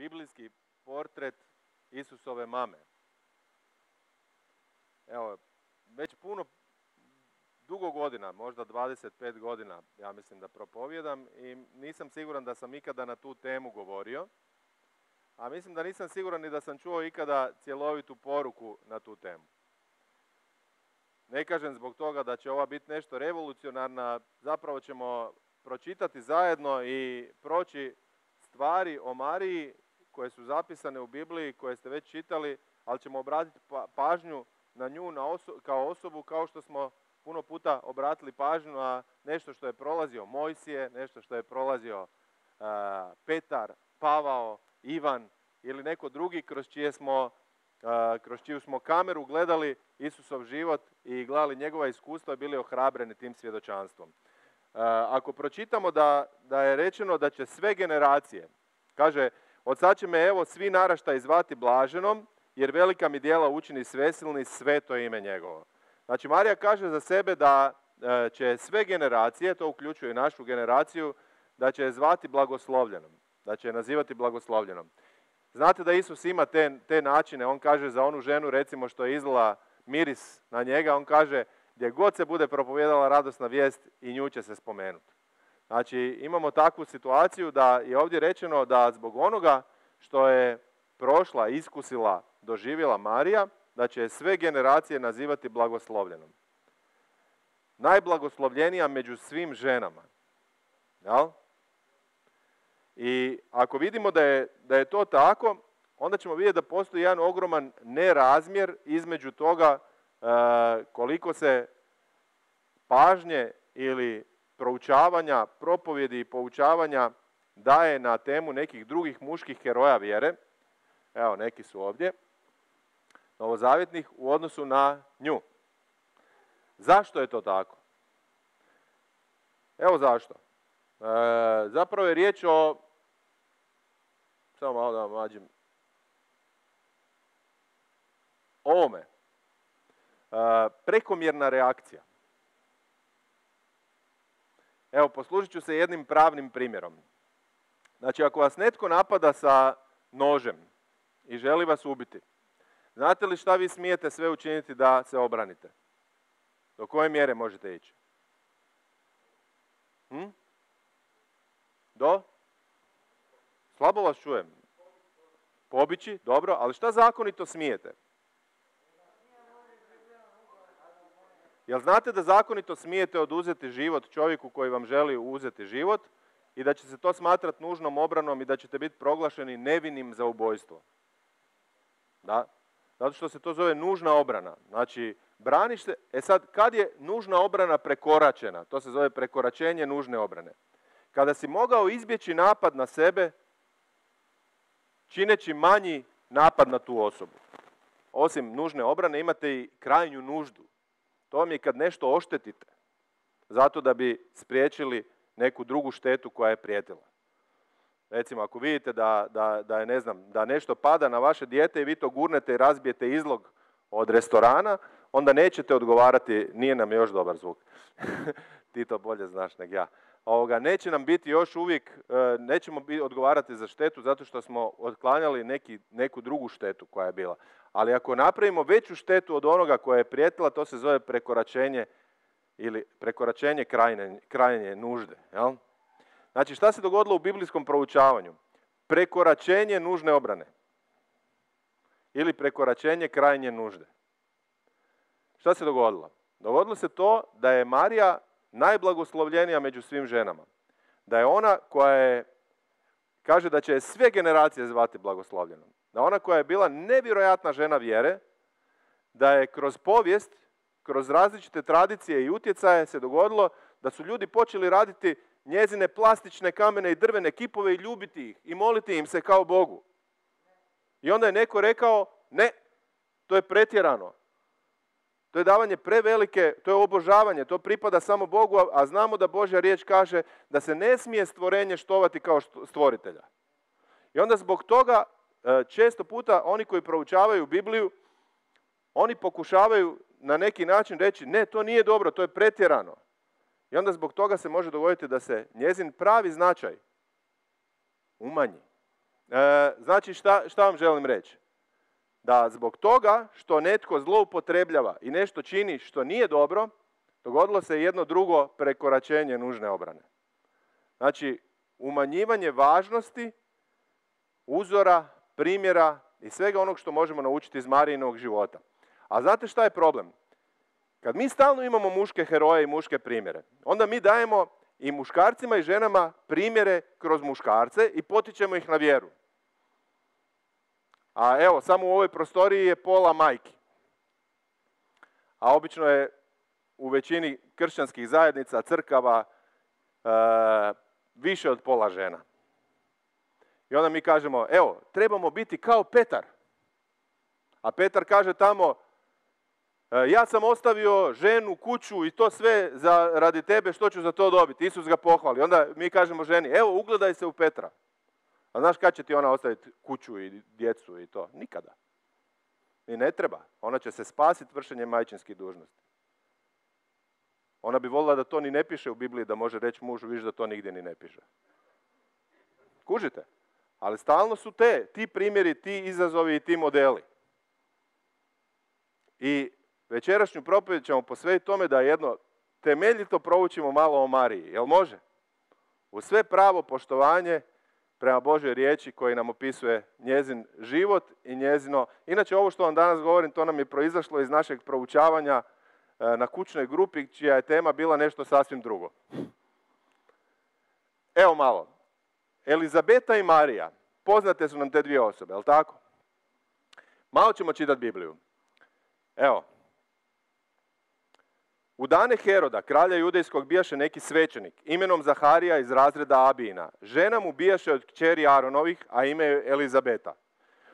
biblijski portret Isusove mame. Evo, već dugo godina, možda 25 godina, ja mislim da propovijedam i nisam siguran da sam ikada na tu temu govorio, a mislim da nisam siguran ni da sam čuo ikada cjelovitu poruku na tu temu. Ne kažem zbog toga da će ova biti nešto revolucionarna, zapravo ćemo pročitati zajedno i proći stvari o Mariji koje su zapisane u Bibliji, koje ste već čitali, ali ćemo obratiti pažnju na nju kao osobu, kao što smo puno puta obratili pažnju na nešto što je prolazio Mojsije, nešto što je prolazio Petar, Pavao, Ivan ili neko drugi kroz čiju smo kameru gledali Isusov život i gledali njegova iskustva i bili ohrabreni tim svjedočanstvom. Ako pročitamo da je rečeno da će sve generacije, kaže, od sad će me evo svi naraštaji zvati blaženom, jer velika mi djela učini svesilni, sveto ime njegovo. Znači, Marija kaže za sebe da će sve generacije, to uključuje i našu generaciju, da će je zvati blagoslovljenom, da će je nazivati blagoslovljenom. Znate da Isus ima te načine, on kaže za onu ženu, recimo, što je izlila miris na njega, on kaže, gdje god se bude propovijedala radosna vijest, i nju će se spomenuti. Znači, imamo takvu situaciju da je ovdje rečeno da zbog onoga što je prošla, iskusila, doživjela Marija, da će sve generacije nazivati blagoslovljenom. Najblagoslovljenija među svim ženama. Jel? I ako vidimo da je to tako, onda ćemo vidjeti da postoji jedan ogroman nerazmjer između toga koliko se pažnje ili proučavanja, propovjedi i poučavanja daje na temu nekih drugih muških heroja vjere. Evo, neki su ovdje, novozavjetnih, u odnosu na nju. Zašto je to tako? Evo zašto. Zapravo je riječ o, samo malo da mađim, ovome. Prekomjerna reakcija. Evo, poslužit ću se jednim pravnim primjerom. Znači, ako vas netko napada sa nožem i želi vas ubiti, znate li šta vi smijete sve učiniti da se obranite? Do koje mjere možete ići? Do? Slabo vas čujem. Pobići, dobro, ali šta zakonito smijete? Jel znate da zakonito smijete oduzeti život čovjeku koji vam želi uzeti život i da će se to smatrati nužnom obranom i da ćete biti proglašeni nevinim za ubojstvo? Da? Zato što se to zove nužna obrana. Znači, braniš se. E sad, kad je nužna obrana prekoračena? To se zove prekoračenje nužne obrane. Kada si mogao izbjeći napad na sebe, čineći manji napad na tu osobu. Osim nužne obrane imate i krajnju nuždu. To vam je kad nešto oštetite, zato da bi spriječili neku drugu štetu koja je prijetila. Recimo, ako vidite da nešto pada na vaše dijete i vi to gurnete i razbijete izlog od restorana, onda nećete odgovarati, nije nam još dobar zvuk, ti to bolje znaš nego ja. Neće nam biti još uvijek, nećemo odgovarati za štetu zato što smo otklanjali neku drugu štetu koja je bila. Ali ako napravimo veću štetu od onoga koja je prijetila, to se zove prekoračenje ili prekoračenje krajnje nužde. Jel? Znači, šta se dogodilo u biblijskom proučavanju? Prekoračenje nužne obrane ili prekoračenje krajnje nužde. Šta se dogodilo? Dogodilo se to da je Marija najblagoslovljenija među svim ženama. Da je ona koja je, kaže da će sve generacije zvati blagoslovljenom. Da ona koja je bila nevjerojatna žena vjere, da je kroz povijest, kroz različite tradicije i utjecaje se dogodilo da su ljudi počeli raditi njezine plastične, kamene i drvene kipove i ljubiti ih i moliti im se kao Bogu. I onda je neko rekao, ne, to je pretjerano. To je davanje prevelike, to je obožavanje, to pripada samo Bogu, a znamo da Božja riječ kaže da se ne smije stvorenje štovati kao stvoritelja. I onda zbog toga često puta oni koji proučavaju Bibliju, oni pokušavaju na neki način reći, ne, to nije dobro, to je pretjerano. I onda zbog toga se može dogoditi da se njezin pravi značaj umanji. Znači, šta vam želim reći? Da zbog toga što netko zloupotrebljava i nešto čini što nije dobro, dogodilo se jedno drugo prekoračenje nužne obrane. Znači, umanjivanje važnosti, uzora, primjera i svega onog što možemo naučiti iz Marijinog života. A znate šta je problem? Kad mi stalno imamo muške heroje i muške primjere, onda mi dajemo i muškarcima i ženama primjere kroz muškarce i potičemo ih na vjeru. A evo, samo u ovoj prostoriji je pola majki. A obično je u većini kršćanskih zajednica, crkava, više od pola žena. I onda mi kažemo, evo, trebamo biti kao Petar. A Petar kaže tamo, ja sam ostavio ženu, kuću i to sve radi tebe, što ću za to dobiti? Isus ga pohvali. Onda mi kažemo ženi, evo, ugledaj se u Petra. A znaš kad će ti ona ostaviti kuću i djecu i to? Nikada. I ne treba. Ona će se spasiti vršenjem majčinskih dužnosti. Ona bi voljela da to ni ne piše u Bibliji, da može reći mužu, viš da to nigdje ni ne piše. Kužite? Ali stalno su ti primjeri, ti izazovi i ti modeli. I večerašnju propovjed ćemo posvetiti tome da jedno temeljito proučimo malo o Mariji. Jel može? U sve pravo poštovanje prema Božoj riječi koji nam opisuje njezin život i njezino... Inače, ovo što vam danas govorim, to nam je proizašlo iz našeg proučavanja na kućnoj grupi, čija je tema bila nešto sasvim drugo. Evo malo. Elizabeta i Marija. Poznate su nam te dvije osobe, jel tako? Malo ćemo čitati Bibliju. Evo. U dane Heroda, kralja judejskog, bijaše neki svećenik, imenom Zaharija iz razreda Abijina. Žena mu bijaše od kćeri Aronovih, a ime je Elizabeta.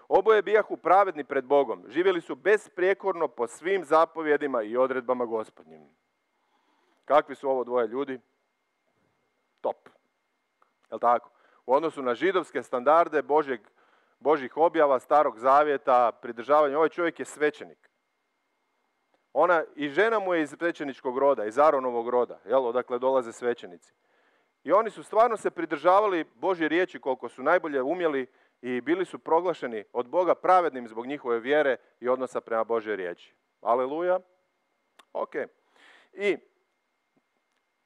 Oboje bijahu pravedni pred Bogom. Živjeli su besprijekorno po svim zapovjedima i odredbama Gospodnjim. Kakvi su ovo dvoje ljudi? Top. Jel tako? U odnosu na židovske standarde Božjih objava, Starog zavjeta, pridržavanja, ovaj čovjek je svećenik. Ona i žena mu je iz svećeničkog roda, iz Aronovog roda, odakle dolaze svećenici. I oni su stvarno se pridržavali Božje riječi koliko su najbolje umjeli i bili su proglašeni od Boga pravednim zbog njihove vjere i odnosa prema Božjoj riječi. Aleluja. Ok.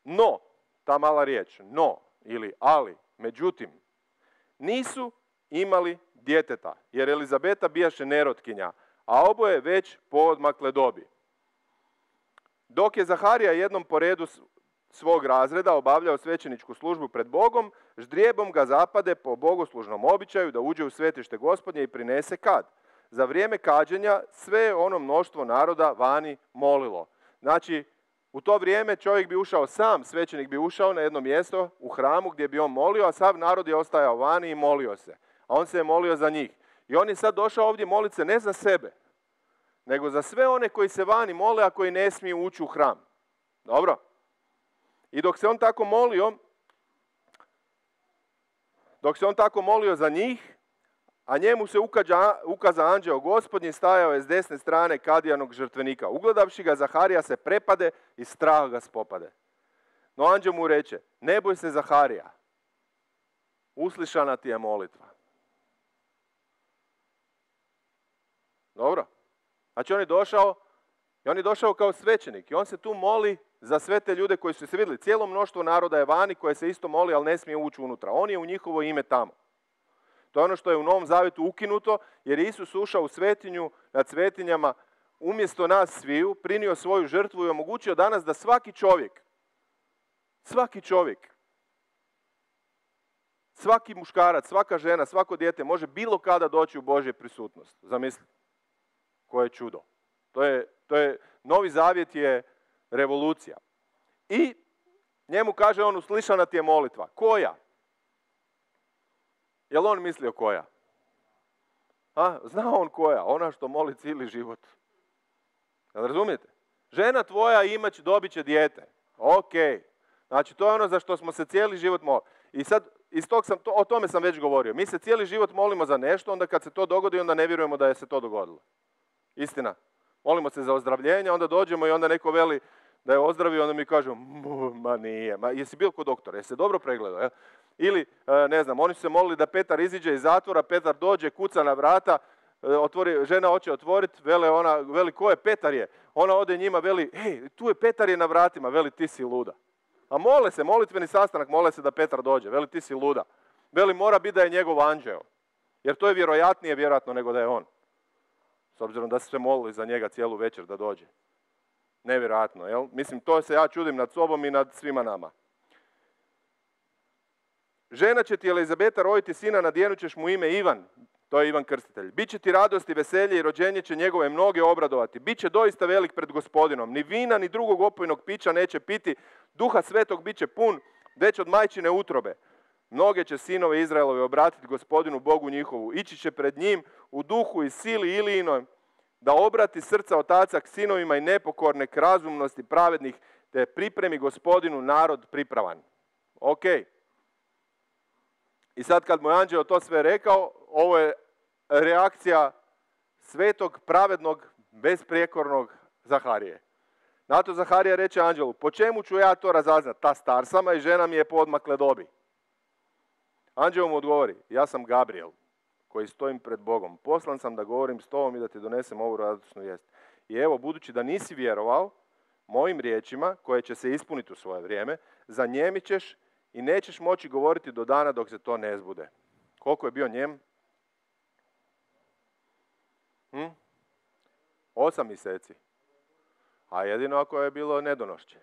No, ta mala riječ, no ili ali, međutim, nisu imali djeteta, jer Elizabeta bijaše nerotkinja, a oboje već poodmakle dobi. Dok je Zaharija jednom po redu svog razreda obavljao svećeničku službu pred Bogom, ždrijebom ga zapade po bogoslužnom običaju da uđe u svetište Gospodnje i prinese kad. Za vrijeme kađenja sve ono mnoštvo naroda vani molilo. Znači, u to vrijeme čovjek bi ušao sam, svećenik bi ušao na jedno mjesto u hramu gdje bi on molio, a sav narod je ostajao vani i molio se. A on se je molio za njih. I on je sad došao ovdje moliti se ne za sebe, nego za sve one koji se vani mole, a koji ne smiju ući u hram. Dobro? I dok se on tako molio za njih, a njemu se ukaza anđeo Gospodnji, stajao je s desne strane kadijanog žrtvenika. Ugledavši ga, Zaharija se prepade i strah ga spopade. No anđeo mu reče, ne boj se Zaharija, uslišana ti je molitva. Dobro? Znači on je došao kao svećenik i on se tu moli za sve te ljude koji su se vidjeli. Cijelo mnoštvo naroda je vani koje se isto moli, ali ne smije ući unutra. On je u njihovo ime tamo. To je ono što je u Novom Zavjetu ukinuto, jer je Isus ušao u svetinju nad svetinjama umjesto nas sviju, prinio svoju žrtvu i omogućio danas da svaki čovjek, svaki muškarac, svaka žena, svako dijete može bilo kada doći u Božju prisutnost. Zamislite, koje čudo. Novi Zavjet je revolucija. I njemu kaže on, uslišana ti je molitva. Koja? Jel on mislio koja? Zna on koja? Ona što moli cijeli život. Jel razumijete? Žena tvoja dobit će dijete. Ok. Znači to je ono za što smo se cijeli život molili. I sad, o tome sam već govorio. Mi se cijeli život molimo za nešto, onda kad se to dogodi, onda ne vjerujemo da je se to dogodilo. Istina. Molimo se za ozdravljenje, onda dođemo i onda neko veli, da je ozdravio, onda mi kažu, ma nije, ma jesi bio kod doktora, jesi se dobro pregledao, jel? Ili, ne znam, oni su se molili da Petar iziđe iz zatvora, Petar dođe, kuca na vrata, žena hoće otvoriti, veli ko je, Petar je. Ona ode njima, veli, hej, tu je Petar je na vratima, veli ti si luda. A mole se, molitveni sastanak, mole se da Petar dođe, veli ti si luda. Veli mora biti da je njegov anđeo, jer to je vjerojatnije vjerojatno nego da je on. S obzirom da su se molili za njega cijelu večer da dođe. Nevjerojatno, jel? Mislim, to se ja čudim nad sobom i nad svima nama. Žena će ti Elizabeta roditi sina, nadjenut ćeš mu ime Ivan, to je Ivan Krstitelj. Biće ti radost i veselje i rođenje će njegove mnoge obradovati. Biće doista velik pred Gospodinom. Ni vina, ni drugog opojnog pića neće piti. Duha Svetog biće pun, već od majčine utrobe. Mnoge će sinove Izraelove obratiti Gospodinu Bogu njihovu. Ići će pred njim u duhu i sili Ilijinoj, da obrati srca otaca k sinovima i nepokorne k razumnosti pravednih, te pripremi Gospodinu narod pripravan. Ok. I sad kad mu je anđeo to sve rekao, ovo je reakcija svetog, pravednog, besprijekornog Zaharije. Na to Zaharija reče anđelu, po čemu ću ja to razaznat? Ta star sama i žena mi je po odmakle dobi. Anđeo mu odgovori, ja sam Gabriel, koji stojim pred Bogom. Poslan sam da govorim s tobom i da ti donesem ovu radosnu vijest. I evo, budući da nisi vjerovao mojim riječima, koje će se ispuniti u svoje vrijeme, zanijemit ćeš i nećeš moći govoriti do dana dok se to ne zbude. Koliko je bio njem? 8 mjeseci. A jedino ako je bilo nedonošće.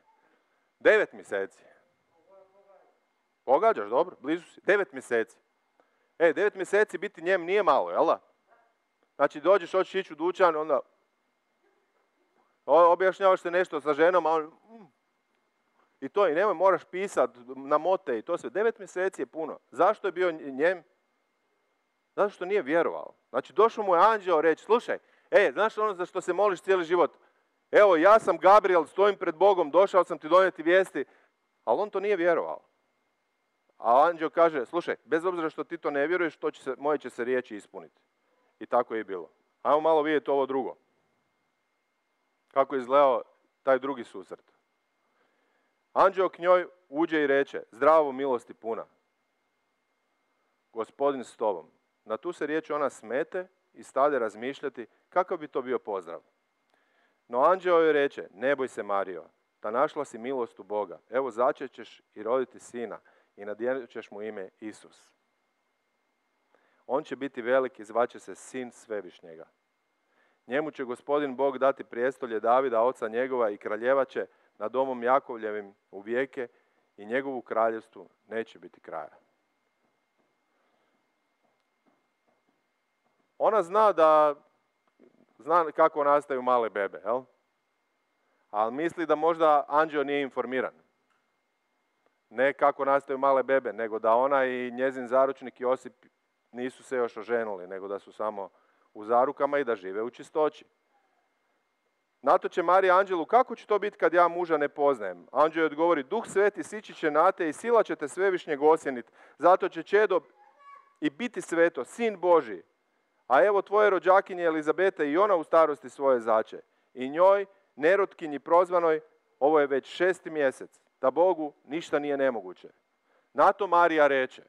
9 mjeseci. Pogađaš, dobro, blizu si. 9 mjeseci. 9 mjeseci biti njem nije malo, jel da? Znači dođeš, hoćeš ići u dućan, onda objašnjavaš se nešto sa ženom, a on... I to, i nemoj, moraš pisati na mote i to sve. 9 mjeseci je puno. Zašto je bio njem? Zato što nije vjerovao. Znači došao mu je anđeo reći, slušaj, znaš ono za što se moliš cijeli život? Evo, ja sam Gabriel, stojim pred Bogom, došao sam ti donijeti vijesti, ali on to nije vjerovao. A anđeo kaže, slušaj, bez obzira što ti to ne vjeruješ, moje će se riječi ispuniti. I tako je i bilo. Ajmo malo vidjeti ovo drugo. Kako je izgledao taj drugi susret. Anđeo k njoj uđe i reče, zdravo milosti puna, Gospodin s tobom. Na tu se riječ ona smete i stade razmišljati kakav bi to bio pozdrav. No anđeo joj reče, ne boj se Marijo, ta našla si milost u Boga. Evo začet ćeš i roditi sina i nadjenut ćeš mu ime Isus. On će biti velik i zvaće se Sin Svevišnjega. Njemu će Gospodin Bog dati prijestolje Davida, oca njegova, i kraljevat će nad domom Jakovljevim u vijeke i njegovu kraljevstvu neće biti kraja. Ona zna kako nastaju male bebe, jel? Ali misli da možda anđeo nije informiran. Ne kako nastaju male bebe, nego da ona i njezin zaručnik Josip nisu se još oženili, nego da su samo u zarukama i da žive u čistoći. Na to će Marija anđelu, kako će to biti kad ja muža ne poznajem? Anđeo joj odgovori, Duh Sveti sići će na te i sila će te Svevišnjeg osjeniti. Zato će čedo i biti sveto, Sin Božji. A evo tvoje rođakinje Elizabeta i ona u starosti svoje zače. I njoj, nerotkinji prozvanoj, ovo je već 6. mjesec, da Bogu ništa nije nemoguće. Na to Marija reče,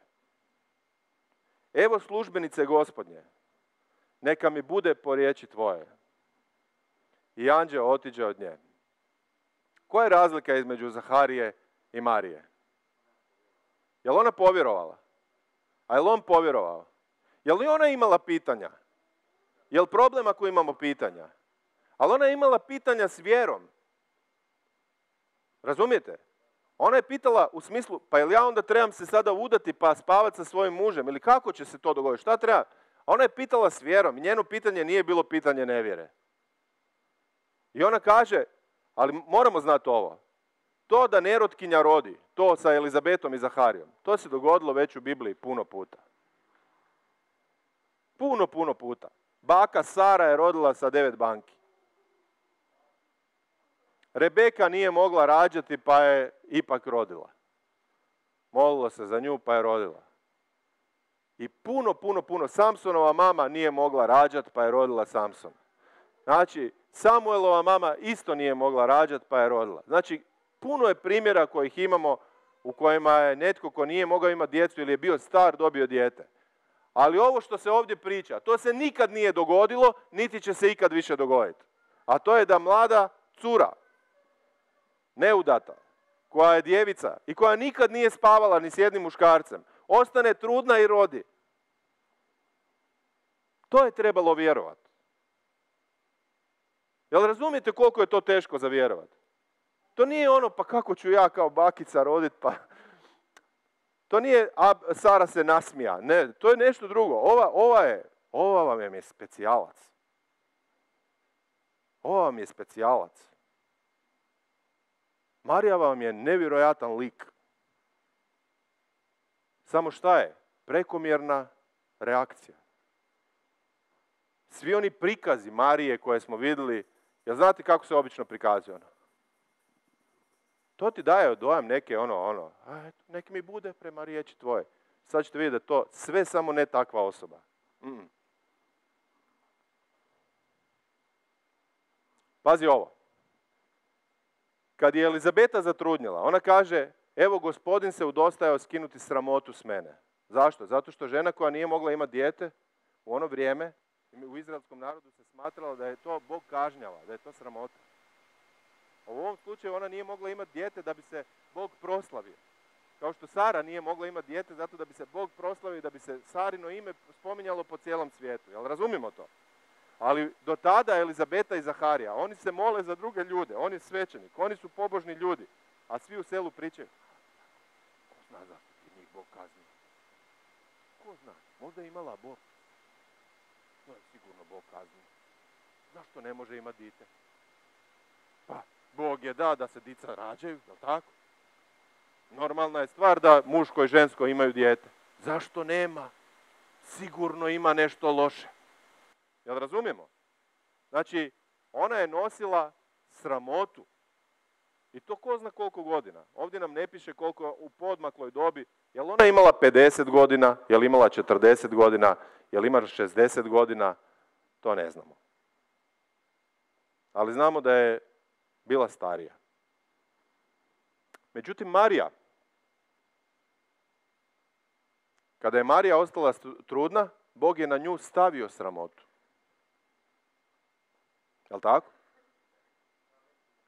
evo službenice Gospodnje, neka mi bude po riječi tvoje. I anđeo otiđe od nje. Koja je razlika između Zaharije i Marije? Je li ona povjerovala? A je li on povjerovao? Je li ona imala pitanja? Je li problem ako imamo pitanja? Ali ona je imala pitanja s vjerom. Razumijete? Ona je pitala u smislu, pa jel ja onda trebam se sada udati pa spavati sa svojim mužem? Ili kako će se to dogoditi? Šta treba? Ona je pitala s vjerom i njeno pitanje nije bilo pitanje nevjere. I ona kaže, ali moramo znati ovo. To da nerotkinja rodi, to sa Elizabetom i Zaharijom, to se dogodilo već u Bibliji puno puta. Puno puta. Baka Sara je rodila sa 9 banki. Rebeka nije mogla rađati pa je ipak rodila. Molila se za nju pa je rodila. I puno. Samsonova mama nije mogla rađati pa je rodila Samson. Znači, Samuelova mama isto nije mogla rađati pa je rodila. Znači, puno je primjera kojih imamo u kojima je netko ko nije mogao imati djecu ili je bio star dobio dijete. Ali ovo što se ovdje priča, to se nikad nije dogodilo, niti će se ikad više dogoditi. A to je da mlada cura, neudata, koja je djevica i koja nikad nije spavala ni s jednim muškarcem, ostane trudna i rodi. To je trebalo vjerovati. Jel razumijete koliko je to teško za vjerovati? To nije ono, pa kako ću ja kao bakica roditi, pa... To nije, a Sara se nasmija. Ne, to je nešto drugo. Ova vam je specijalac. Ova vam je specijalac. Marija vam je nevjerojatan lik. Samo šta je? Prekomjerna reakcija. Svi oni prikazi Marije koje smo vidjeli, jel znate kako se obično prikazuje ono? To ti daje dojam neke neki mi bude prema riječi tvoje. Sad ćete vidjeti da to sve samo ne takva osoba. Pazi ovo. Kad je Elizabeta zatrudnjela, ona kaže, evo Gospodin se udostajao skinuti sramotu s mene. Zašto? Zato što žena koja nije mogla imati dijete u ono vrijeme, u izraelskom narodu se smatralo da je to Bog kažnjava, da je to sramota. U ovom slučaju ona nije mogla imati dijete da bi se Bog proslavio. Kao što Sara nije mogla imati dijete zato da bi se Bog proslavio i da bi se Sarino ime spominjalo po cijelom svijetu. Jel razumimo to? Ali do tada Elizabeta i Zaharija, oni se mole za druge ljude, on je svećenik, oni su pobožni ljudi, a svi u selu pričaju. Ko zna zašto ti njih Bog kazni? Ko zna? Možda je imala Bog. To je sigurno Bog kazni. Zašto ne može imati dite? Pa, Bog je da se dica rađaju, jel tako? Normalna je stvar da muško i žensko imaju dijete. Zašto nema? Sigurno ima nešto loše. Jel razumijemo? Znači, ona je nosila sramotu. I to ko zna koliko godina. Ovdje nam ne piše koliko u podmakloj dobi. Jel ona imala 50 godina? Jel imala 40 godina? Jel imala 60 godina? To ne znamo. Ali znamo da je bila starija. Međutim, Marija, kada je Marija ostala trudna, Bog je na nju stavio sramotu. Jel' tako?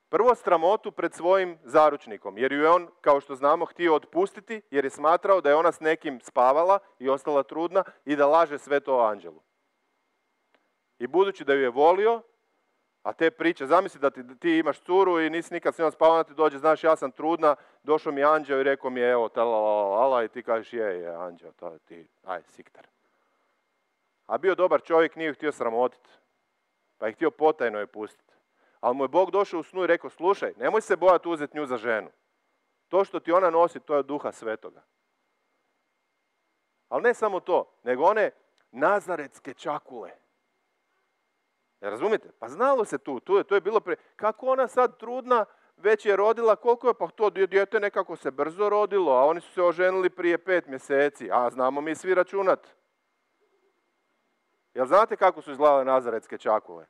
Prvo sramotu pred svojim zaručnikom, jer ju je on, kao što znamo, htio otpustiti, jer je smatrao da je ona s nekim spavala i ostala trudna i da laže sve to o anđelu. I budući da ju je volio, a te priče, zamisli da ti imaš curu i nisi nikad s njom spavala, ti dođe, znaš, ja sam trudna, došao mi anđeo i rekao mi je, evo, talalala, i ti kažeš, je, anđeo, to ti, aj, siktar. A bio dobar čovjek, nije ju htio sramotiti, pa je htio potajno je pustiti. Ali mu je Bog došao u snu i rekao, slušaj, nemoj se bojati uzeti nju za ženu. To što ti ona nosi, to je od Duha Svetoga. Ali ne samo to, nego one nazaretske čakule. Razumite? Pa znalo se to je bilo kako ona sad trudna, već je rodila, koliko je, pa to dijete nekako se brzo rodilo, a oni su se oženili prije 5 mjeseci, a znamo mi svi računat. Jel znate kako su izgledale nazaretske čakule?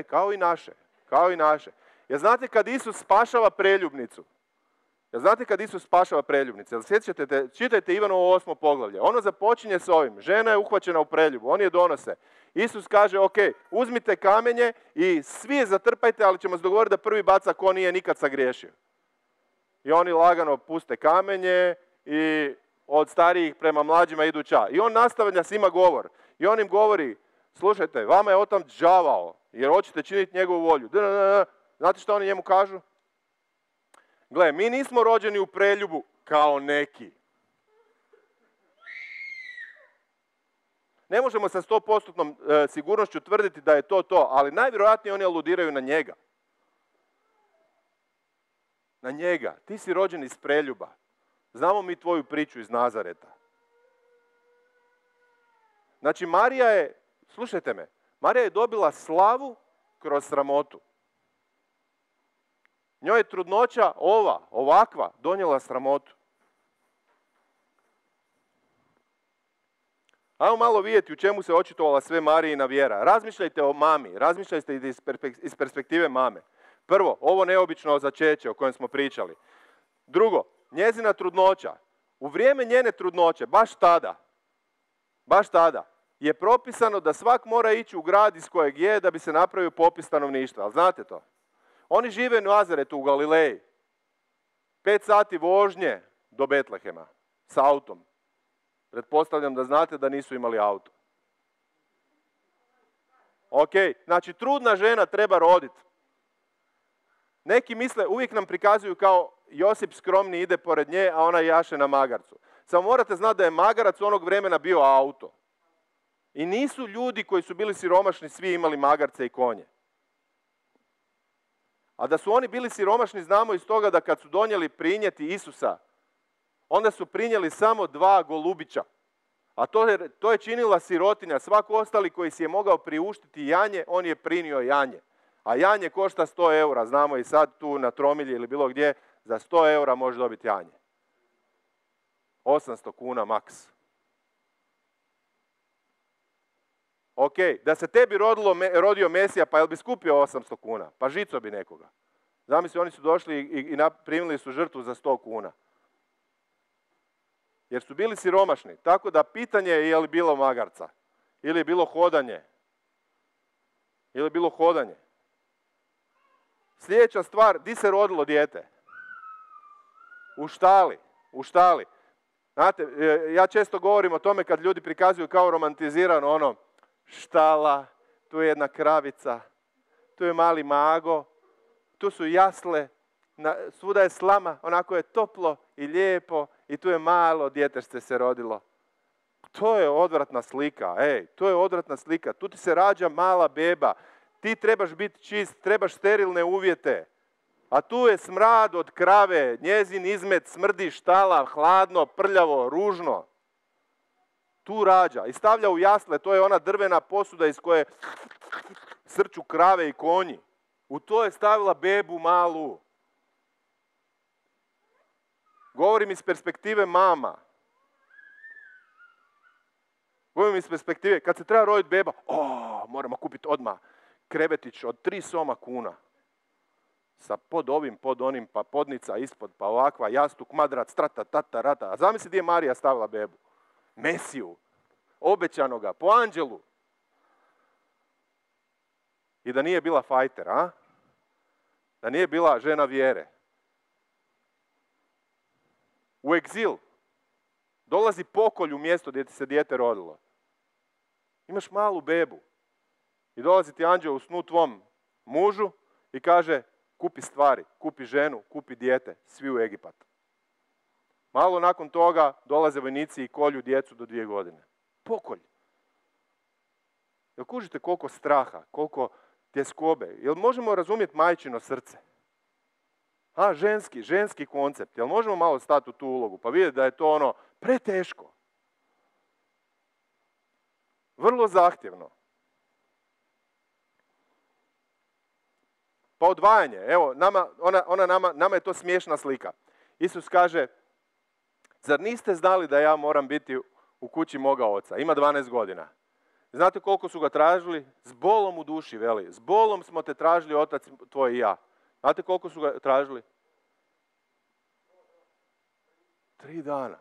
Kao i naše. Jel znate kad Isus spašava preljubnicu? Jel sjećate, čitajte Ivanovo 8. poglavlje. Ono započinje s ovim. Žena je uhvaćena u preljubu, oni je donose. Isus kaže, ok, uzmite kamenje i svi je zatrpajte, ali ćemo se dogovoriti da prvi baca ko nije nikad sagriješio. I oni lagano puste kamenje i od starijih prema mlađima idu ča. I on nastavlja s njima govor. I on im govori, slušajte, vama je otam đavao, jer hoćete činiti njegovu volju. Znate što oni njemu kažu? Gle, mi nismo rođeni u preljubu kao neki. Ne možemo sa 100% sigurnošću tvrditi da je to, ali najvjerojatnije oni aludiraju na njega. Na njega. Ti si rođen iz preljuba. Znamo mi tvoju priču iz Nazareta. Znači, Marija je, slušajte me, Marija je dobila slavu kroz sramotu. Njoj je trudnoća ovakva, donijela sramotu. Ajmo malo vidjeti u čemu se očitovala sve Marijina vjera. Razmišljajte o mami, razmišljajte iz perspektive mame. Prvo, ovo neobično začeće o kojem smo pričali. Drugo, njezina trudnoća. U vrijeme njene trudnoće, baš tada, je propisano da svak mora ići u grad iz kojeg je da bi se napravio popis stanovništva. Ali znate to? Oni žive u Nazaretu u Galileji. 5 sati vožnje do Betlehema s autom. Pretpostavljam da znate da nisu imali auto. Ok, znači trudna žena treba roditi. Neki misle, uvijek nam prikazuju kao Josip skromni ide pored nje, a ona jaše na magarcu. Samo morate znati da je magarac onog vremena bio auto. I nisu ljudi koji su bili siromašni svi imali magarce i konje. A da su oni bili siromašni znamo iz toga da kad su donijeli prinijeti Isusa, onda su prinijeli samo 2 golubića. A to je činila sirotinja. Svako ostali koji si je mogao priuštiti janje, on je prinio janje. A janje košta 100 eura. Znamo i sad tu na Tromilji ili bilo gdje, za 100 eura možeš dobiti janje. 800 kuna maks. Ok, da se tebi rodio Mesija, pa jel bi skupio 800 kuna? Pa žico bi nekoga. Zamisli, oni su došli i primili su žrtvu za 100 kuna. Jer su bili siromašni. Tako da pitanje je li bilo magarca. Ili je bilo hodanje. Sljedeća stvar, di se rodilo dijete? U štali. Znate, ja često govorim o tome kad ljudi prikazuju kao romantizirano ono, štala, tu je jedna kravica, tu je mali mago, tu su jasle, svuda je slama, onako je toplo i lijepo i tu je malo djetešce se rodilo. To je odvratna slika, to je odvratna slika. Tu ti se rađa mala beba, ti trebaš biti čist, trebaš sterilne uvjete. A tu je smrad od krave, njezin izmet smrdi, štala, hladno, prljavo, ružno. Tu rađa i stavlja u jasle, to je ona drvena posuda iz koje srču krave i konji. U to je stavila bebu malu. Govorim iz perspektive mama. Govorim iz perspektive, kad se treba roditi beba, moramo kupiti odmah krevetić od 3 soma kuna. Sa pod onim, pa podnica ispod, pa ovakva, jastuk, madrac, trata, tata, rata. A zamisli gdje je Marija stavila bebu. Mesiju, obećanoga, po anđelu. I da nije bila fajter, a? Da nije bila žena vjere. U egzil. Dolazi pokolj u mjesto gdje ti se dijete rodilo. Imaš malu bebu. I dolazi ti anđeo u snu tvom mužu i kaže, kupi stvari, kupi ženu, kupi dijete, svi u Egipat. Malo nakon toga dolaze vojnici i kolju djecu do 2 godine. Pokolj. Jel kužite koliko straha, koliko tjeskobe? Jel možemo razumjeti majčino srce? Ženski koncept. Jel možemo malo stati u tu ulogu pa vidjeti da je to ono preteško? Vrlo zahtjevno. Pa odvajanje. Evo, nama je to smiješna slika. Isus kaže, zar niste znali da ja moram biti u kući moga oca? Ima 12 godina. Znate koliko su ga tražili? S bolom u duši, veli. S bolom smo te tražili, otac tvoj i ja. Znate koliko su ga tražili? 3 dana.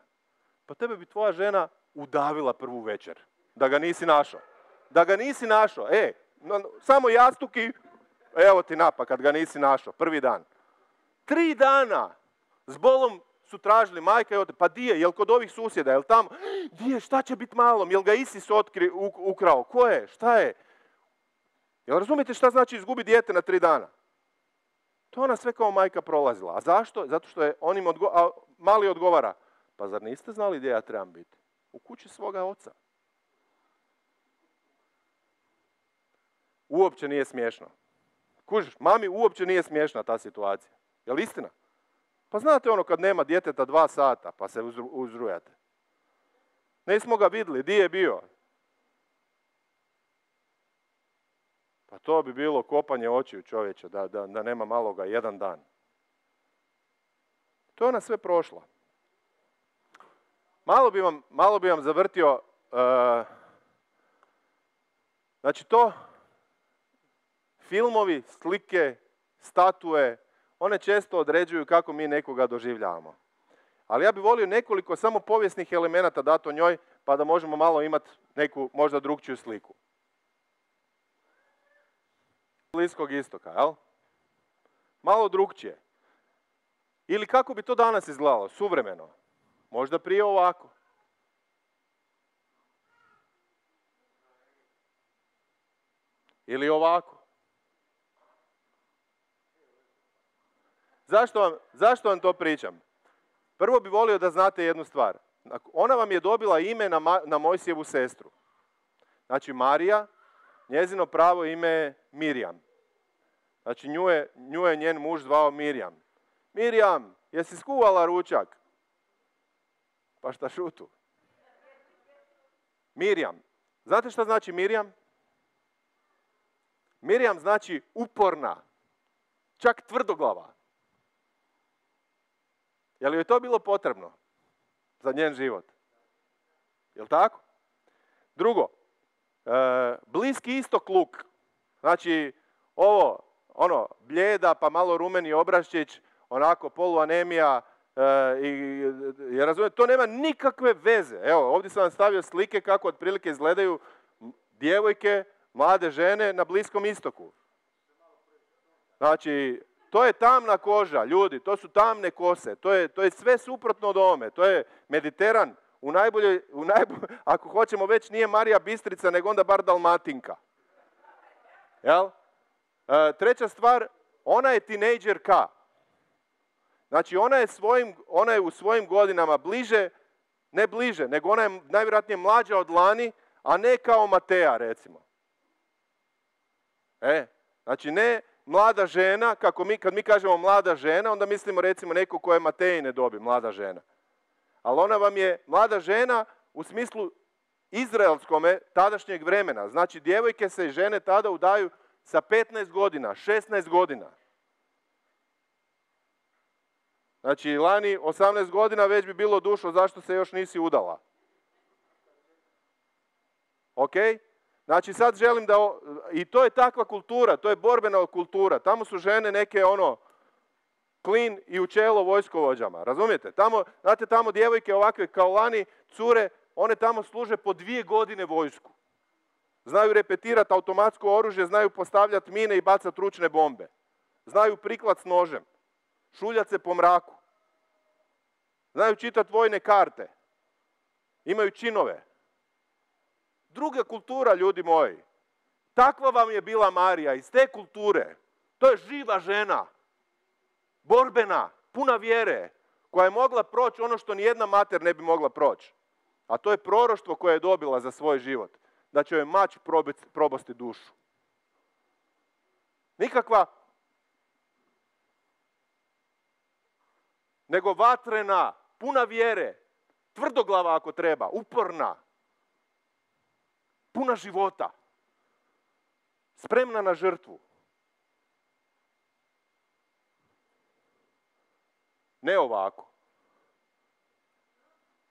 Pa tebe bi tvoja žena udavila prvu večer. Da ga nisi našao. Samo jastuki, evo ti napak kad ga nisi našao. Prvi dan. 3 dana. S bolom su tražili majka i otac. Pa di je? Jel kod ovih susjeda? Jel tamo? Di je? Šta će biti malom? Jel ga Isis ukrao? Ko je? Šta je? Jel razumijete šta znači izgubiti dijete na 3 dana? To ona sve kao majka prolazila. A zašto? Zato što je mali odgovara. Pa zar niste znali gdje ja trebam biti? U kući svoga oca. Uopće nije smiješno. Kužiš, mami uopće nije smiješna ta situacija. Je li istina? Pa znate ono kad nema djeteta 2 sata pa se uzrujate. Nismo ga vidjeli, di je bio? Pa to bi bilo kopanje očiju čovječa, da nema maloga 1 dan. To je ona sve prošla. Malo bi vam zavrtio znači to, filmovi, slike, statue, one često određuju kako mi nekoga doživljavamo. Ali ja bih volio nekoliko samo povijesnih elemenata dati o njoj, pa da možemo malo imati neku možda drugčiju sliku. Bliskog istoka, jel? Malo drugčije. Ili kako bi to danas izgledalo, suvremeno? Možda prije ovako. Ili ovako. Zašto vam to pričam? Prvo bi volio da znate jednu stvar. Ona vam je dobila ime na Mojsijevu sestru. Znači Marija, njezino pravo ime je Mirjam. Znači nju je njen muž zvao Mirjam. Mirjam, jesi skuvala ručak? Pa šta šutu? Mirjam. Znate šta znači Mirjam? Mirjam znači uporna, čak tvrdoglava. Je li joj to bilo potrebno za njen život? Jel' tako? Drugo, Bliski istok luk. Znači, ovo, bljeda pa malo rumeni obraščić, onako poluanemija, jer razumijete, to nema nikakve veze. Evo, ovdje sam vam stavio slike kako otprilike izgledaju djevojke, mlade žene na Bliskom istoku. Znači, to je tamna koža, ljudi, to su tamne kose, to je sve suprotno od ovome, to je Mediteran, ako hoćemo već nije Marija Bistrica, nego onda bar Dalmatinka. Jel? Treća stvar, ona je tinejdžerka. Znači, ona je u svojim godinama ne bliže, nego ona je najvjerojatnije mlađa od Lani, a ne kao Mateja, recimo. Znači, ne mlada žena, kad mi kažemo mlada žena, onda mislimo recimo neko koje Matejine dobi, mlada žena. Ali ona vam je mlada žena u smislu izraelskome tadašnjeg vremena. Znači, djevojke se i žene tada udaju sa 15 godina, 16 godina. Znači, Lani 18 godina već bi bilo dušo, zašto se još nisi udala? Ok? Znači, sad želim da... I to je takva kultura, to je borbena kultura. Tamo su žene neke, klin i u čelo vojskovođama. Razumijete? Znate, tamo djevojke ovakve kao Lani, cure, one tamo služe po 2 godine vojsku. Znaju repetirati automatsko oružje, znaju postavljati mine i bacati ručne bombe. Znaju priklat s nožem. Šuljat se po mraku. Znaju čitati vojne karte. Imaju činove. Druga kultura, ljudi moji. Takva vam je bila Marija, iz te kulture. To je živa žena. Borbena, puna vjere, koja je mogla proći ono što nijedna mater ne bi mogla proći. A to je proroštvo koje je dobila za svoj život. Da će joj mač probosti dušu. Nikakva, nego vatrena, puna vjere, tvrdoglava ako treba, uporna, puna života, spremna na žrtvu. Ne ovako.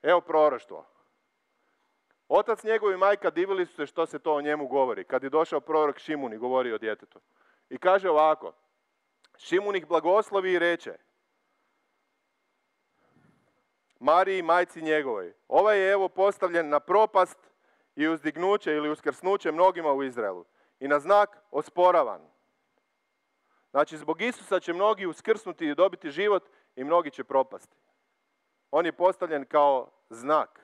Evo proroštvo. Otac njegov i majka divili su se što se to o njemu govori. Kad je došao prorok Šimun i govori o djetetu. I kaže ovako. Šimun ih blagoslovi i reče Mariji, majci njegovoj. Ovaj je evo postavljen na propast i uzdignuće ili uskrsnuće mnogima u Izraelu. I na znak osporavan. Znači, zbog Isusa će mnogi uskrsnuti i dobiti život i mnogi će propasti. On je postavljen kao znak.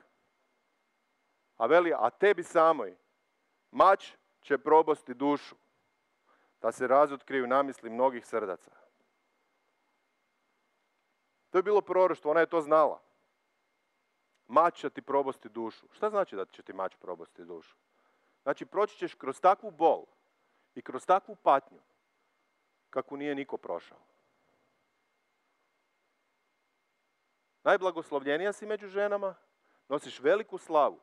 A veli, a tebi samoj mač će probosti dušu, da se razotkriju namisli mnogih srdaca. To je bilo proroštvo, ona je to znala. Mač će ti probosti dušu. Šta znači da će ti mač probosti dušu? Znači, proći ćeš kroz takvu bol i kroz takvu patnju, kakvu nije niko prošao. Najblagoslovljenija si među ženama, nosiš veliku slavu,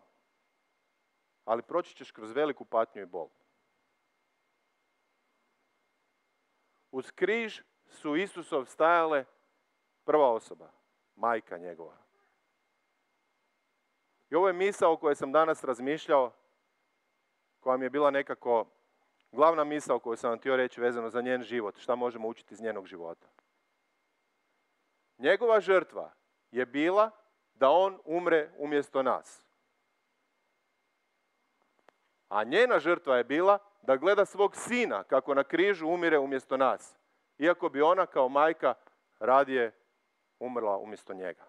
ali proći ćeš kroz veliku patnju i bol. Uz križ su Isusov stajale prva osoba, majka njegova. I ovo je misao o kojoj sam danas razmišljao, koja mi je bila nekako glavna misao koju sam vam htio reći vezano za njen život, šta možemo učiti iz njenog života. Njegova žrtva je bila da on umre umjesto nas. A njena žrtva je bila da gleda svog sina kako na križu umire umjesto nas. Iako bi ona kao majka radije umrla umjesto njega.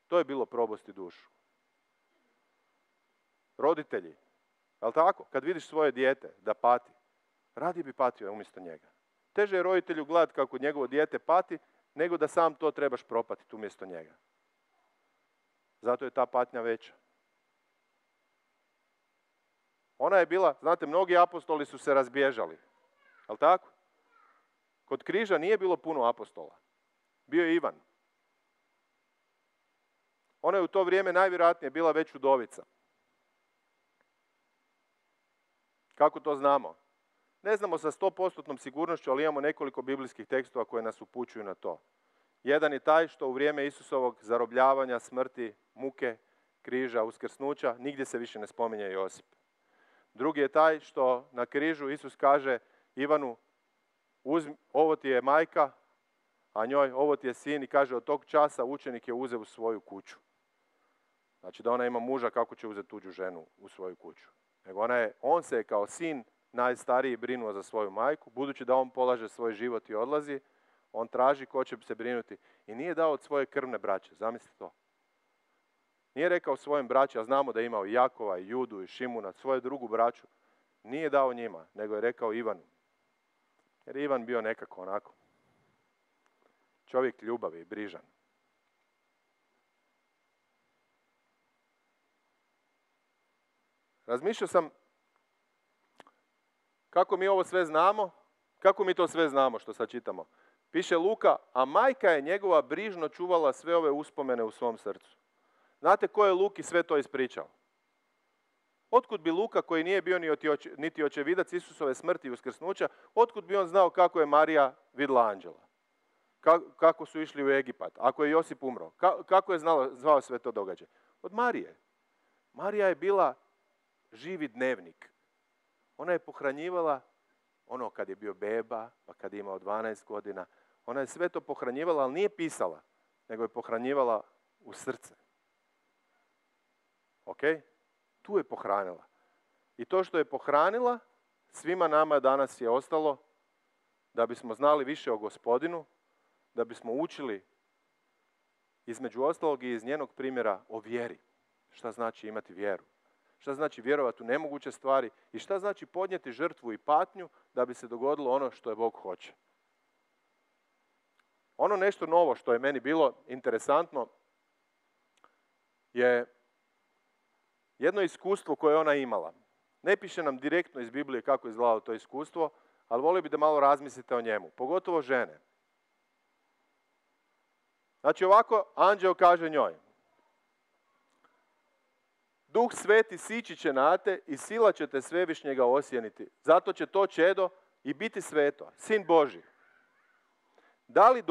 To je bilo probosti dušu. Roditelji, jel' tako? Kad vidiš svoje dijete da pati, radije bi patio umjesto njega. Teže je roditelju gledati kako njegovo dijete pati, nego da sam to trebaš propatiti umjesto njega. Zato je ta patnja veća. Ona je bila, znate, mnogi apostoli su se razbježali. Jel' tako? Kod križa nije bilo puno apostola. Bio je Ivan. Ona je u to vrijeme najvjerojatnije bila već udovica. Kako to znamo? Ne znamo sa 100% sigurnošću, ali imamo nekoliko biblijskih tekstova koje nas upućuju na to. Jedan je taj što u vrijeme Isusovog zarobljavanja, smrti, muke, križa, uskrsnuća, nigdje se više ne spominje Josip. Drugi je taj što na križu Isus kaže Ivanu, ovo ti je majka, a njoj ovo ti je sin, i kaže od tog časa učenik je uzeo u svoju kuću. Znači da ona ima muža, kako će uzeti tuđu ženu u svoju kuću. Nego on se je kao sin najstariji brinuo za svoju majku, budući da on polaže svoj život i odlazi, on traži ko će se brinuti. I nije dao od svoje krvne braće, zamislite to. Nije rekao svojim braći, a znamo da je imao i Jakova, i Judu, i Šimuna, svoju drugu braću. Nije dao njima, nego je rekao Ivanu. Jer je Ivan bio nekako onako čovjek ljubavi i brižan. Razmišljao sam kako mi ovo sve znamo, kako mi to sve znamo što sad čitamo. Piše Luka, a majka je njegova brižno čuvala sve ove uspomene u svom srcu. Znate ko je Luki sve to ispričao? Otkud bi Luka, koji nije bio niti očevidac Isusove smrti i uskrsnuća, otkud bi on znao kako je Marija vidjela anđela? Kako su išli u Egipat, ako je Josip umro? Kako je zvao sve to događaje? Od Marije. Marija je bila živi dnevnik. Ona je pohranjivala ono kad je bio beba, pa kad je imao 12 godina. Ona je sve to pohranjivala, ali nije pisala, nego je pohranjivala u srce. Ok? Tu je pohranila. I to što je pohranila, svima nama danas je ostalo da bismo znali više o Gospodinu, da bismo učili između ostalog i iz njenog primjera o vjeri. Šta znači imati vjeru? Šta znači vjerovati u nemoguće stvari i šta znači podnijeti žrtvu i patnju da bi se dogodilo ono što je Bog hoće. Ono nešto novo što je meni bilo interesantno je jedno iskustvo koje ona imala. Ne piše nam direktno iz Biblije kako je izgledalo to iskustvo, ali volio bih da malo razmislite o njemu, pogotovo žene. Znači ovako, anđeo kaže njoj, Duh Sveti sići će na te i sila će te Svevišnjega osjeniti. Zato će to čedo i biti sveto, Sin Božji. Da li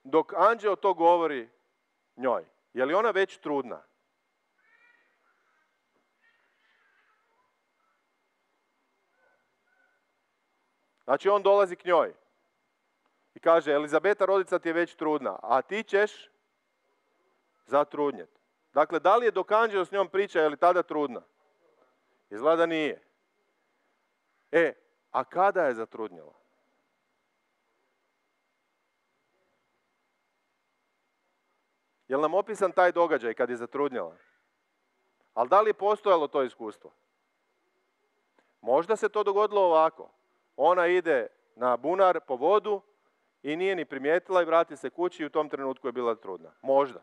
dok anđeo to govori njoj, je li ona već trudna? Znači on dolazi k njoj i kaže, Elizabeta rodica ti je već trudna, a ti ćeš zatrudnjeti. Dakle, da li je dok anđeo s njom priča, je li tada trudna? Izgleda da nije. A kada je zatrudnjela? Je li nam opisan taj događaj kad je zatrudnjela? Ali da li je postojalo to iskustvo? Možda se to dogodilo ovako. Ona ide na bunar po vodu i nije ni primijetila i vrati se kući i u tom trenutku je bila trudna. Možda.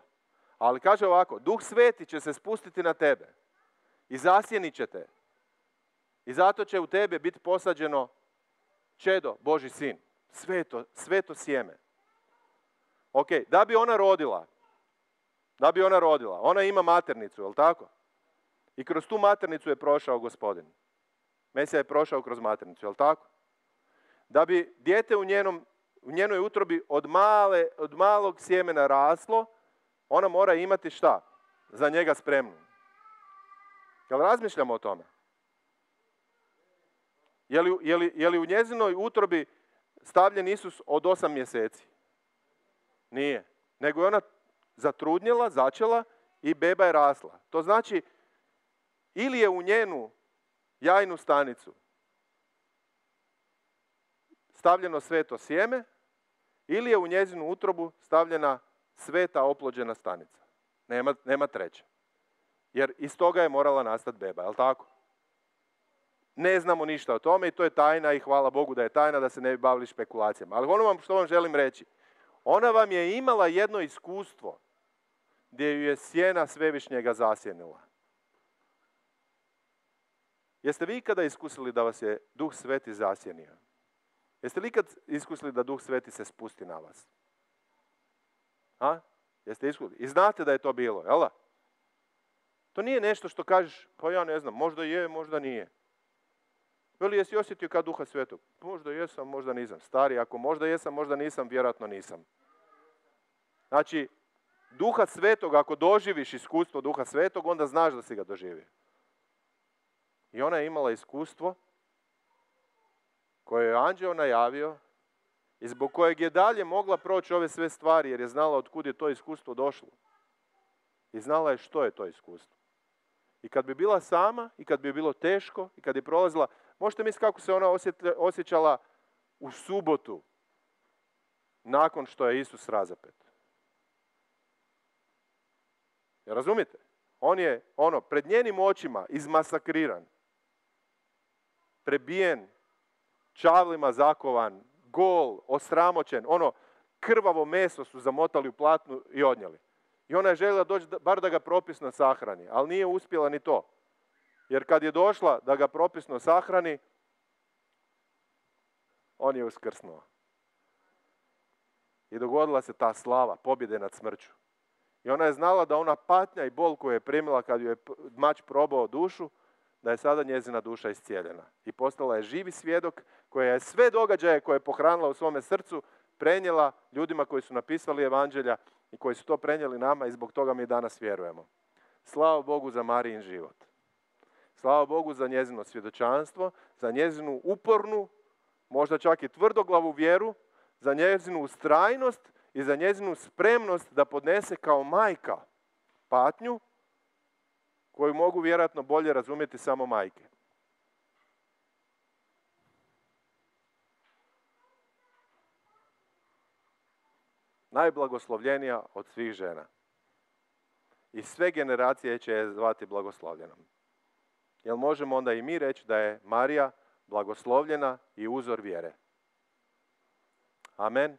Ali kaže ovako, Duh Sveti će se spustiti na tebe i zasjenit će te. I zato će u tebe biti posađeno čedo, Božji sin. Sveto sjeme. Ok, da bi ona rodila, ona ima maternicu, je li tako? I kroz tu maternicu je prošao Gospodin. Mesija je prošao kroz maternicu, je li tako? Da bi dijete u njenoj utrobi od malog sjemena raslo, ona mora imati šta? za njega spremnu. Jel razmišljamo o tome? Je li u njezinoj utrobi stavljen Isus od 8 mjeseci? Nije. Nego je ona zatrudnjela, začela i beba je rasla. To znači, ili je u njenu jajnu stanicu stavljeno sveto sjeme, ili je u njezinu utrobu stavljena sveta oplođena stanica. Nema treće. Jer iz toga je morala nastati beba, je li tako? Ne znamo ništa o tome i to je tajna i hvala Bogu da je tajna, da se ne bi bavili špekulacijama. Ali ono što vam želim reći, ona vam je imala jedno iskustvo gdje ju je sjena Svevišnjega zasjenila. Jeste vi ikada iskusili da vas je Duh Sveti zasjenio? Jeste li ikad iskusili da Duh Sveti se spusti na vas? Jeste iskusili? I znate da je to bilo, jel da? To nije nešto što kažeš, pa ja ne znam, možda je, možda nije. Veli, jesi osjetio kad Duha Svetog? Možda jesam, možda nisam. Stari, ako možda jesam, možda nisam, vjerojatno nisam. Znači, Duha Svetog, ako doživiš iskustvo Duha Svetog, onda znaš da si ga doživio. I ona je imala iskustvo koje je anđeo najavio i zbog kojeg je dalje mogla proći ove sve stvari, jer je znala od kud je to iskustvo došlo. I znala je što je to iskustvo. I kad bi bila sama, i kad bi bilo teško, i kad je prolazila, možete misliti kako se ona osjećala u subotu, nakon što je Isus razapet. Jer razumite? On je, pred njenim očima izmasakriran, prebijen, čavlima zakovan, gol, osramoćen, krvavo meso su zamotali u platnu i odnijeli. I ona je željela doći bar da ga propisno sahrani, ali nije uspjela ni to. Jer kad je došla da ga propisno sahrani, on je uskrsnuo. I dogodila se ta slava, pobjede nad smrću. I ona je znala da ona patnja i bol koju je primila kad ju je mač probao dušu, da je sada njezina duša iscijeljena. I postala je živi svjedok koja je sve događaje koje je pohranila u svome srcu prenijela ljudima koji su napisali evanđelja i koji su to prenijeli nama i zbog toga mi danas vjerujemo. Slava Bogu za Marijin život. Slava Bogu za njezino svjedočanstvo, za njezinu upornu, možda čak i tvrdoglavu vjeru, za njezinu ustrajnost i za njezinu spremnost da podnese kao majka patnju koju mogu vjerojatno bolje razumjeti samo majke. Najblagoslovljenija od svih žena. I sve generacije će je zvati blagoslovljenom. Jel možemo onda i mi reći da je Marija blagoslovljena i uzor vjere? Amen.